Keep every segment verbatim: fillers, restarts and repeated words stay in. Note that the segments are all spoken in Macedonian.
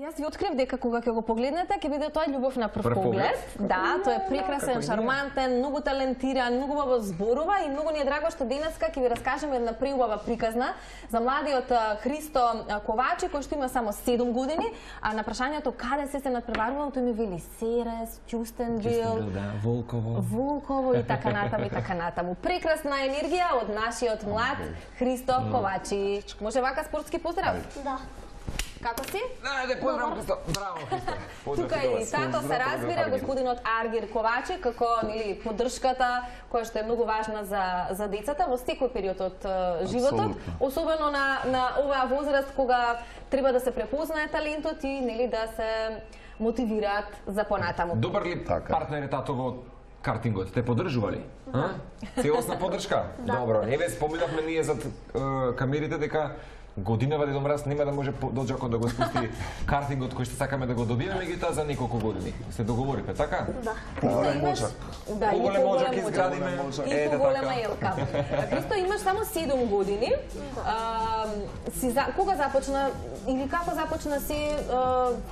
Јас ви открив дека кога ќе го погледнете, ќе биде тоа љубов на прв поглед. Да, тој е прекрасен, шармантен, многу талентиран, многу убаво зборува и многу ни е драго што денеска ќе ви раскажеме една преубава приказна за младиот Христо Ковачи, кој што има само седум години, а на прашањето каде се се надпреварувал, тој ми вели Серес, Ќустендил, Волково, Волково и така натаму и така натаму. Прекрасна енергија од нашиот млад Христо Ковачи. Може вака спортски поздрав? Да. Како си? Да, поздрав, Христо. Браво, Христо. Тука и тато се разбира, господинот Аргир Ковачи, како нели поддршката која што е многу важна за за децата во секој период од животот, особено на на оваа возраст кога треба да се препознае талентот и нели да се мотивираат за понатаму. Добар ли партнер е тато во картингот? Те поддржува ли? Целосна поддршка? Добро. Еве споминавме ние зад камерите дека годинава Дедо Мраз нема да може доџакот да го спусти картингот кој што сакаме да го добиеме, меѓутоа за неколку години. Се договорите, така? Да. Поголем моџак. Да, и поголем моџак изградиме. И поголема елка. Христо, имаш само седум години. Си за кога започна или како започна си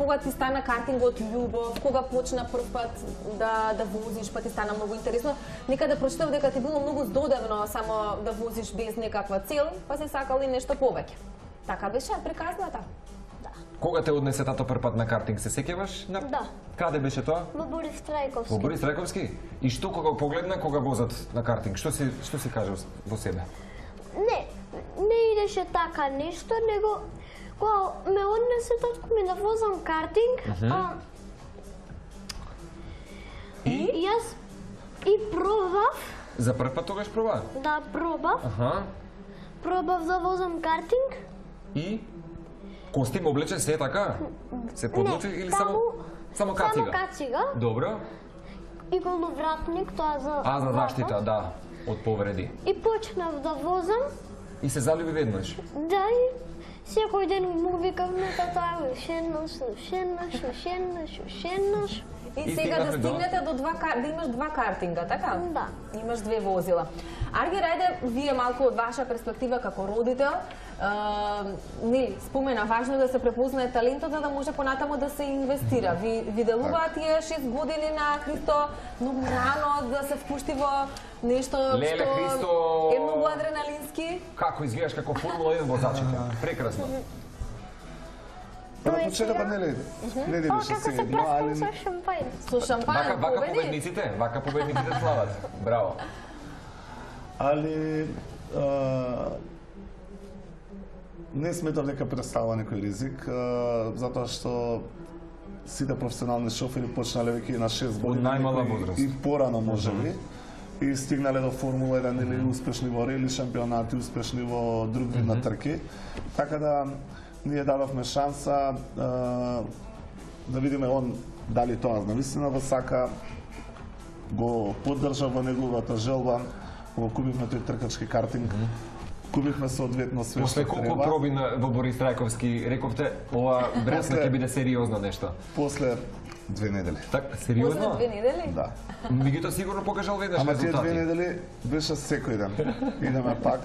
кога ти стана картингот љубов, кога почна прв пат да да возиш, па ти стана многу интересно. Некаде прочитав дека ти било многу здодевно само да возиш без некаква цел, па си сакал и нешто повеќе. Така беше приказната? Да. Кога те однесе тато прв пат на картинг, се сеќаваш? На... Да. Каде беше тоа? Во Борис Трајковски. Во Борис Трајковски? И што кога го погледна, кога возат на картинг? Што си што си кажал во себе? Не, не идеше така нешто, него кога ме однесе татко ми да возам картинг, uh-huh. а... И? Јас и пробав. За прв пат тогаш проба? Да, пробав. Аха. Пробав да возам картинг. И? Костим облечен се така? Се подлучи или само само кацига? Само кацига. Добро. И головратник, тоа за А, за заштита, да, од повреди. И почнав да возам. И се залюби веднаш? Да, и секој ден му викав на тата, шенаш, шенаш, шенаш, шенаш. И сега да стигнете до два да имаш два картинга, така? Да. Имаш две возила. Аргир, ајде, вие малку од ваша перспектива како родител, нели, спомена важно да се препознае талентот за да може понатаму да се инвестира. Ви виделуваат тие шест години на Христо многу рано да се впушти во нешто Леле, што Христо... е многу адреналински? Како изгледаш како Формула еден возачите? Прекрасно. На почетокот нели не О, беше како се седно, али праскам со шампајн. Со шампајн Вака, вака победи? победниците, вака победниците слават. Браво. али а, не сметав дека представува некој ризик, а, затоа што сите професионални шофери почнале веќе на шест години, Од најмала некои возраст. и порано можеби, и стигнале до Формула еден или успешни во рели шампионати, успешни во друг вид на трки. Така да ние дадовме шанса а, да видиме он дали тоа навистина го сака, го поддржа во неговата желба, го купивме тој тркачки картинг, купивме соодветно све После што колку треба. проби на, во Борис Трајковски, рековте, ова бресна После- ќе биде сериозно нешто. После две недели. Так, После сериозно? две недели? Да. Меѓутоа сигурно покажал веднаш Ама тие резултати. две недели беше секој ден. Идеме пак,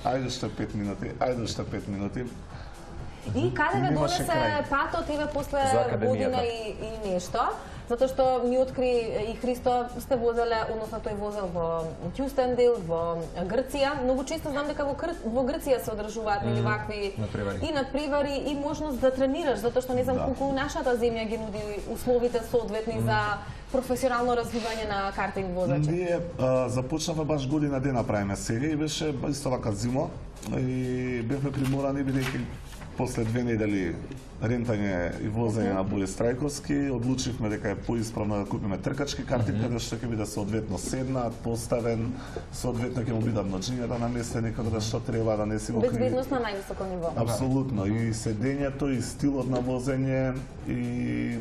ајде уште пет минути, ајде уште пет минути. И каде ве Немаше донесе крај. патот еве после За академијата. година и, и нешто? Затоа што ми откри и Христо сте возеле, односно тој возел во Ќустендил, во Грција. Многу често знам дека во, Гр... во Грција се одржуваат нели вакви надпревари. и надпревари и можност да тренираш, затоа што не знам Да. колку нашата земја ги нуди условите соодветни за професионално развивање на картинг возачи. Ние а, започнавме баш година дена правиме сега и беше исто вака зимо и бевме приморани бидејќи после две недели рентање и возење на Борис Трајковски, одлучивме дека е поисправно да купиме тркачки картинг, каде што ќе биде соодветно седнат, поставен, соодветно ќе му бидат ноџињата наместени како да што треба, да не си го криви. Безбедност на највисоко ниво. Апсолутно, и седењето, и стилот на возење, и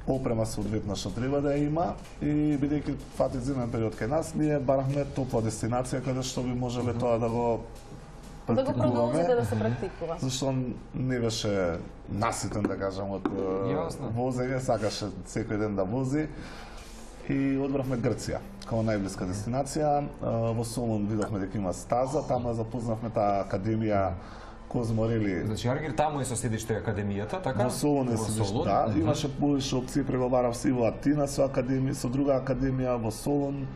опрема соодветно што треба да ја има, и бидејќи фати зимен период кај нас, ние барахме топла дестинација каде што би можеле тоа да го Да го продолжите практикуваме, да се практикува. зашто не беше наситен, да кажам, од е, Јасно. возење, сакаше секој ден да вози. И одбравме Грција, као најблиска дестинација. Во Солун видовме дека има стаза, тама запознавме таа академија Козморели. Значи Аргир таму е со седиште академијата, така? Во Солун е седиште, да. Имаше повеќе опции, преговарав и во Атина со академија, со друга академија во Солун.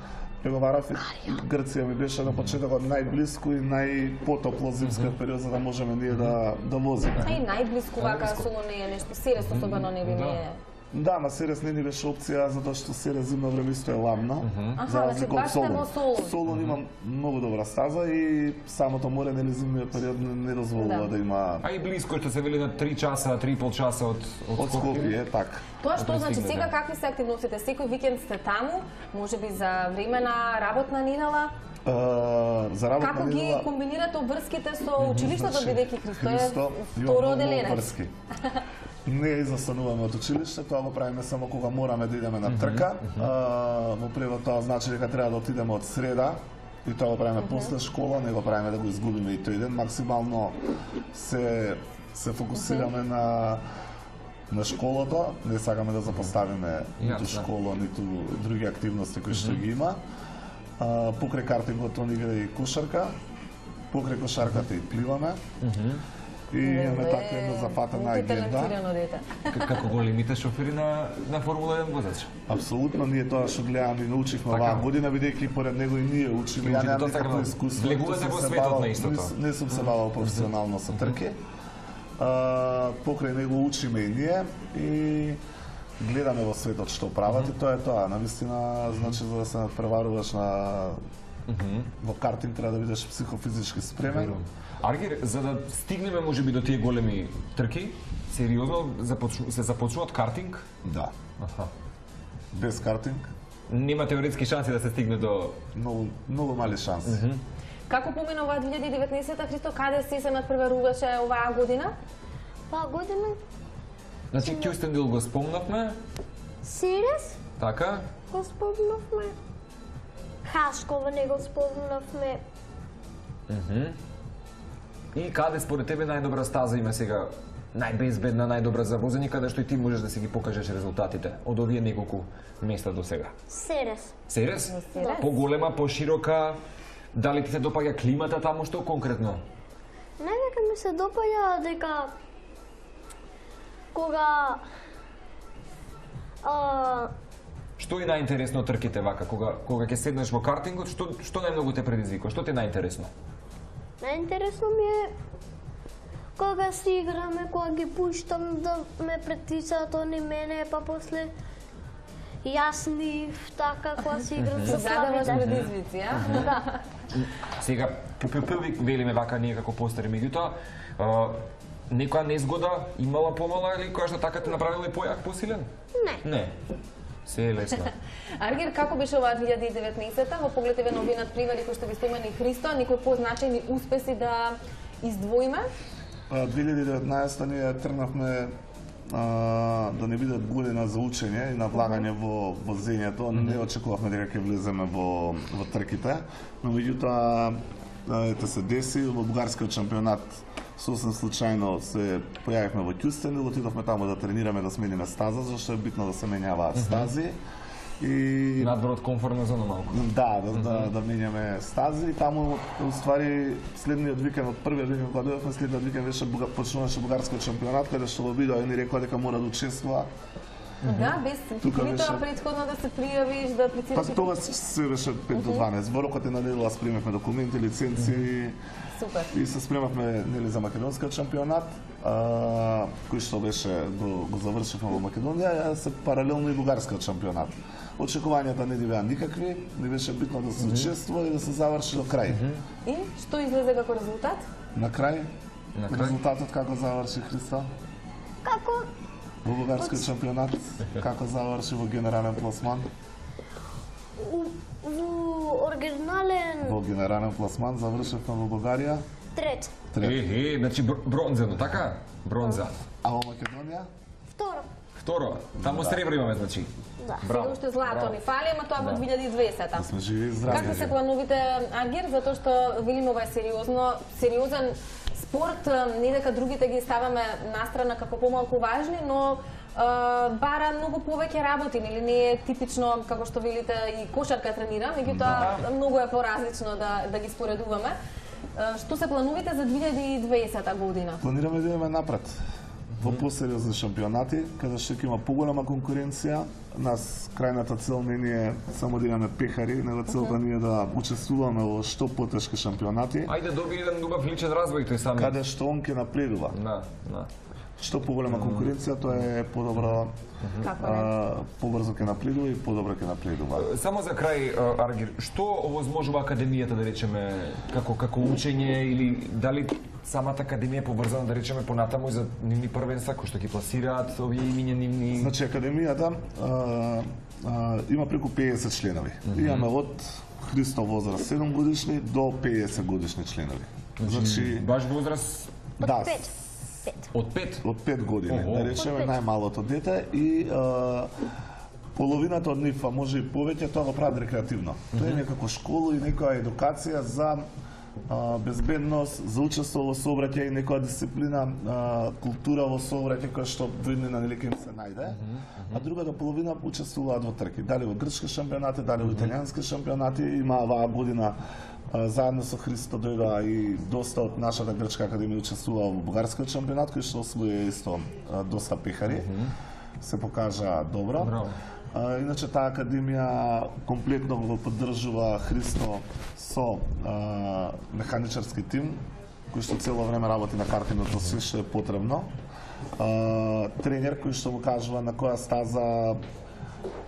Преговарав и Грција ми беше на почетокот најблиску и најпотопло зимскиот период за да можеме ние да да возиме. А и најблиску вака Солун не е нешто, Серес особено не би не е. Да, ма Серес не ни беше опција затоа што Серес зимно време исто е ладно. За Аха, разлика од значи баш во Солун. Солун. Солун има многу добра стаза и самото море нели зимниот период не, не дозволува Да. да има. А и близко што се вели на три часа, три и пол часа од од Од Скопје, така. Тоа што Да значи пристигнете. сега какви се активностите? Секој викенд сте таму, можеби за време на работна недела. Uh, за работна Како ги недела- комбинирате обврските со училиштето, Значи, бидејќи Христо е Христо има второ многу оделенец? врски. Не изостануваме од училиште, тоа го правиме само кога мораме да идеме на трка. А, во превод тоа значи дека треба да отидеме од среда и тоа го правиме после школа, не го правиме да го изгубиме и тој ден. Максимално се се фокусираме на на школото, не сакаме да запоставиме ниту Јасно. школа, ниту други активности кои што ги има. А, покрај картингот он игра и кошарка, покрај кошарката и пливаме. И имаме така една запатена агенда. Мултиталентирано дете. К- како големите шофери на на Формула еден возач. Апсолутно, ние тоа што гледаме и научивме Така. оваа година, бидејќи поред него и ние учиме. Ја Учите немам тоа така, никакво да. искуство. Влегувате ниту во сум се светот бавал- на истото. Не, не сум се бавал професионално со трки. А, покрај него учиме и ние и гледаме во светот што прават и тоа е тоа. Навистина, значи за да се надпреваруваш на во картинг треба да бидеш психофизички спремен. Аргир, за да стигнеме можеби до тие големи трки, сериозно започну, се започнува од картинг? Да. Аха. Без картинг Нема теоретски шанси да се стигне до многу многу мали шанси. Како помина оваа две илјади и деветнаесета, Христо, каде си се надпреваруваше оваа година? Па година Значи Кюстендил го спомнавме, Серес така? го спомнавме. Хашкова не го спомнавме. И каде според тебе најдобра стаза има сега? Најбезбедна, најдобра за возење, каде што и ти можеш да си ги покажеш резултатите од овие неколку места до сега. Серес. Серес? Серес. Поголема, поширока, дали ти се допаѓа климата таму, што конкретно? Најдека ми се допаѓа дека кога а, Што е најинтересно од трките вака, кога кога ќе седнеш во картингот, што што најмногу те предизвикува? Што ти е најинтересно? најинтересно ми е кога си играме, кога ги пуштам да ме притисаат они мене, па после јас нив, така кога си играм со Задаваш слабите. предизвици, а? Да. Сега ППП велиме вака ние како постари, меѓутоа а, некоја незгода имала помала или која што така те направила и појак, посилен? Не. Не. Се е лесно. Аргир, како беше оваа две илјади и деветнаесета во поглед еве на овие надпревари кои што ги спомена и Христо, некои позначајни успеси да издвоиме? А, две илјади и деветнаесета ние тргнавме а, да не биде година за учење и надлагање во возењето. Не очекувавме дека ќе влеземе во во трките, но меѓутоа а, ете се деси во бугарскиот шампионат сосем случајно се појавивме во Кюстендил, отидовме таму да тренираме, да смениме стаза, зашто е битно да се менјаваат стази. И Надвор од комфортна зона малку. да, да, да, да менјаме стази. Таму, уствари, следниот викенд, од првиот викенд кога дојдовме, следниот викенд беше буга, почнуваше бугарскиот шампионат, каде што во видео и ни рекоа дека мора да учествува. Да, без Тука нитоа беше- претходно да се пријавиш, да Па апlicираш. тоа се беше пет до дванаесет. Во рокот е на недела спремавме документи, лиценци Супер. и се спремавме нели за македонскиот шампионат, а, кој што беше го, го завршивме во Македонија, а се паралелно и бугарскиот шампионат. Очекувањата не ни беа никакви, не беше битно да се учествува и да се заврши до крај. И што излезе како резултат? На крај, На крај? резултатот како заврши Христо? Како Во бугарскиот шампионат, како заврши во генерален пласман? у, во оригинален Во генерален пласман завршивме во Бугарија, трет, трет. Е, е, значи бр- бронзено, така? Бронза. А во Македонија? второ. Второ, таму сребро имаме, значи. Да. Сега уште злато ни фали, ама тоа во две илјади и дваесета. Да сме живи и здрави. Какви се плановите, Аргир, затоа што велиме ова е сериозно, сериозен спорт, не дека другите ги ставаме настрана како помалку важни, но а, бара многу повеќе работи, нели не е типично како што велите и кошарка тренира, меѓутоа многу е поразлично да да ги споредуваме. што се плановите за две илјади и дваесета година? Планираме да идеме напред во посериозни шампионати, каде што ќе има поголема конкуренција. Нас крајната цел не е само да имаме пехари, него целта ни е да учествуваме во што потешки шампионати. Ајде доби еден убав личен развој тој сами. Каде што он ќе напредува. Да, да. Што поголема конкуренција, тоа е подобро, побрзо ќе напредува и подобро ќе напредува. Само за крај, Аргир, што овозможува академијата, да речеме, како како учење или дали самата академија е побрзана, да речеме, понатаму за нивни првенства кои што ги пласираат овие имиња нивни? Значи академијата а, а, има преку пеесет членови. Mm -hmm. Имаме од Христо возраст седум годишни до пеесет годишни членови. Значи баш возраст да, од пет. Од пет години, Ого. да речеме најмалото дете и а, половината од нив, а може и повеќе, тоа го прават рекреативно. Mm -hmm. Тоа е некако школа и некоја едукација за а, безбедност, за учество во сообраќај и некоја дисциплина, а, култура во сообраќај која што виднина нели ќе им се најде. Mm -hmm. А другата половина учествуваат во трки, дали во грчки шампионати, дали во италијански шампионати. Има оваа година а, заедно со Христо дојдоа и доста од нашата грчка академија учествува во бугарскиот шампионат, кој што освои исто а, доста пехари. Mm -hmm. Се покажа добро. Браво. А, иначе таа академија комплетно го поддржува Христо со а, механичарски тим, кој што цело време работи на картиното се што е потребно. А, тренер кој што му кажува на која стаза,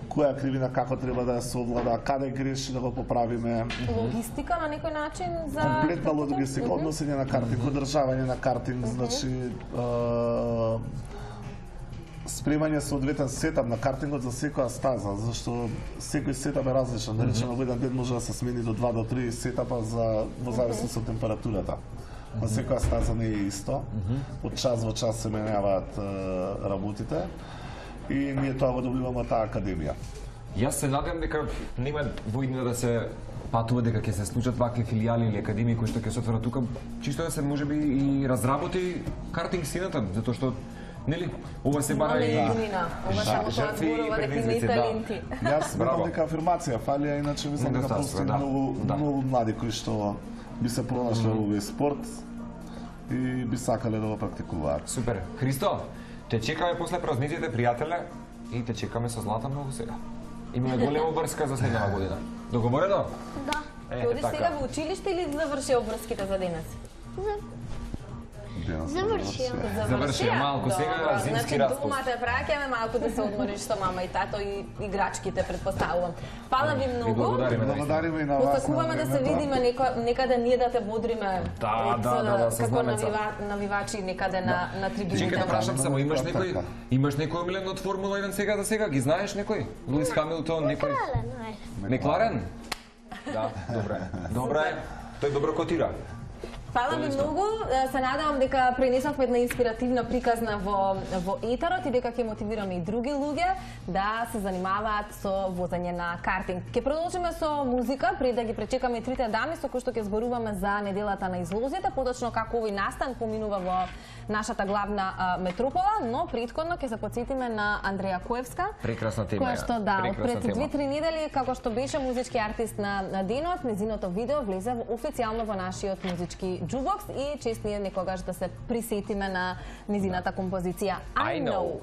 која кривина како треба да ја совлада, каде греши да го поправиме. Логистика на некој начин за Комплетна логистика, односење на картинг, одржавање на картинг, значи а, спремање соодветен сетап на картингот за секоја стаза, зашто секој сетап е различен. Да речеме, во еден ден може да се смени до два до три сетапа за во зависност од температурата. На секоја стаза не е исто. Од час во час се менјаваат работите и ние тоа го добиваме од таа академија. Јас се надевам дека нема во иднина да се патува, дека ќе се случат вакви филијали или академии кои што ќе се отворат тука, чисто да се можеби и разработи картинг сцената, затоа што нели ова се бара и ова само тоа зборува дека има и таленти. Јас сметам дека афирмација фалија, иначе мислам дека постои многу многу млади кои што би се пронашле во овој спорт и би сакале да го практикуваат. Супер. Христо, те чекаме после празниците, пријателе, и те чекаме со злата многу сега. Имаме голема врска за следнава година. Договорено? Да. Ќе одиш сега во училиште или заврши обврските за денес? Завршија. Завршија малку сега, зимски распуст. Значи дома те праќаме малку да се одмориш со мама и тато и играчките, предпоставувам. Фала ви многу. Благодариме. Благодариме и на вас. Посакуваме да се видиме некаде ние да те бодриме. Да, да, да, да, како навивачи некаде на на трибуните. Чекај да прашам само, имаш некој имаш некој омилен од Формула еден сега за сега? Ги знаеш некој? Луис Хамилтон, некој? Мекларен? Да, добре. Добре. Тој добро котира. Фала ви многу, се надевам дека пренесовме една инспиративна приказна во во етерот и дека ќе мотивираме и други луѓе да се занимаваат со возење на картинг. Ќе продолжиме со музика пред да ги пречекаме трите дами со кои што ќе зборуваме за неделата на излозите, поточно како овој настан поминува во нашата главна а, метропола, но претходно ќе се потсетиме на Андреја Коевска. Прекрасна тема. Која што да, пред две-три недели како што беше музички артист на, на денот, незиното видео влезе официјално во нашиот музички джубокс и чест ние некогаш да се присетиме на незината композиција I Know.